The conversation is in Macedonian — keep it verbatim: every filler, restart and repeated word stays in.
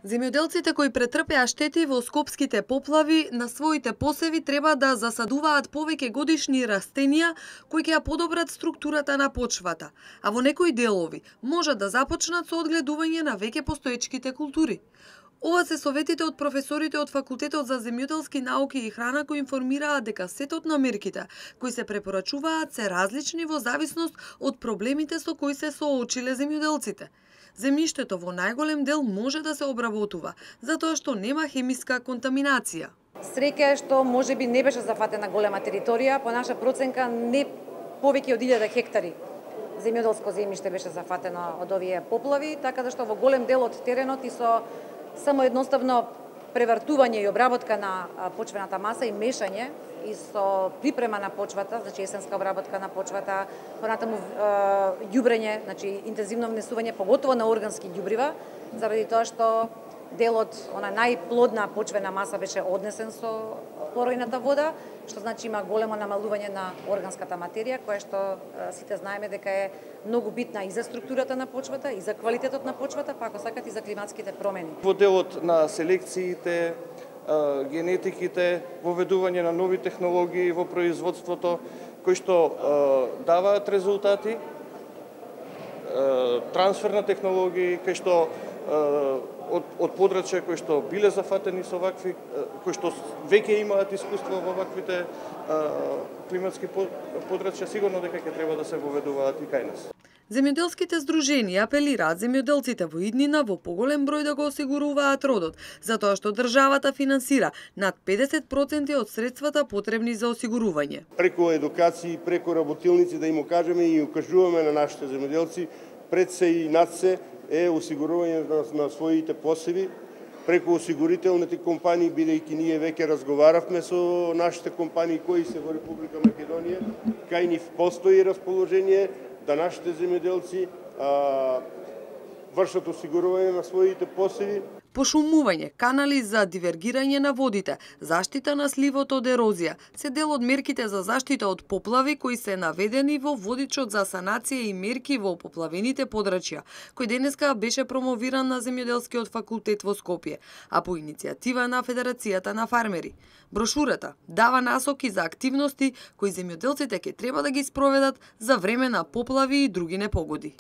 Земјоделците кои претрпеа штети во скопските поплави на своите посеви треба да засадуваат повеќе годишни растенија кои ќе ја подобрат структурата на почвата, а во некои делови можат да започнат со одгледување на веќе постоечките култури. Ова се советите од професорите од Факултетот за земјоделски науки и храна кои информираат дека сетот на мерките кои се препорачуваат се различни во зависност од проблемите со кои се соочиле земјоделците. Земјиштето во најголем дел може да се обработува, затоа што нема хемиска контаминација. Среќа е што можеби не беше зафатена голема територија, по наша проценка не повеќе од илјада хектари земјоделско земјиште беше зафатено од овие поплави, така да што во голем дел од теренот и со само едноставно превртување и обработка на почвената маса и мешање и со припрема на почвата, значи есенска обработка на почвата, понатаму ѓубрење, значи интензивно внесување поготово на органски ѓубрива, заради тоа што делот, она најплодна почвена маса беше однесен со поројната вода, што значи има големо намалување на органската материја, која што сите знаеме дека е многу битна и за структурата на почвата, и за квалитетот на почвата, па ако сакат и за климатските промени. Во делот на селекциите, генетиките, воведување на нови технологии во производството, кои што даваат резултати, трансфер на технологии, кои што од, од подрачја кои што биле зафатени со вакви, кои што веќе имаат искуство во ваквите климатски подрачја, сигурно дека ќе треба да се воведуваат и кај нас. Земјоделските здруженија апелираат земјоделците во иднина во поголем број да го осигуруваат родот, затоа што државата финансира над педесет проценти од средствата потребни за осигурување. Преку едукации, преку работилници да им кажеме и укажуваме на нашите земјоделци, пред се и над се е осигурување на, на своите посеви, преку осигурителните компании, бидејќи ние веќе разговаравме со нашите компании кои се во Република Македонија, кај нив постои расположение да нашите земјоделци а, вршат осигурување на своите посеви. Пошумување, канали за дивергирање на водите, заштита на сливот од ерозија, се дел од мерките за заштита од поплави кои се наведени во водичот за санација и мерки во поплавените подрачја, кој денеска беше промовиран на Земјоделскиот факултет во Скопје, а по иницијатива на Федерацијата на фармери. Брошурата дава насоки за активности кои земјоделците ќе треба да ги спроведат за време на поплави и други непогоди.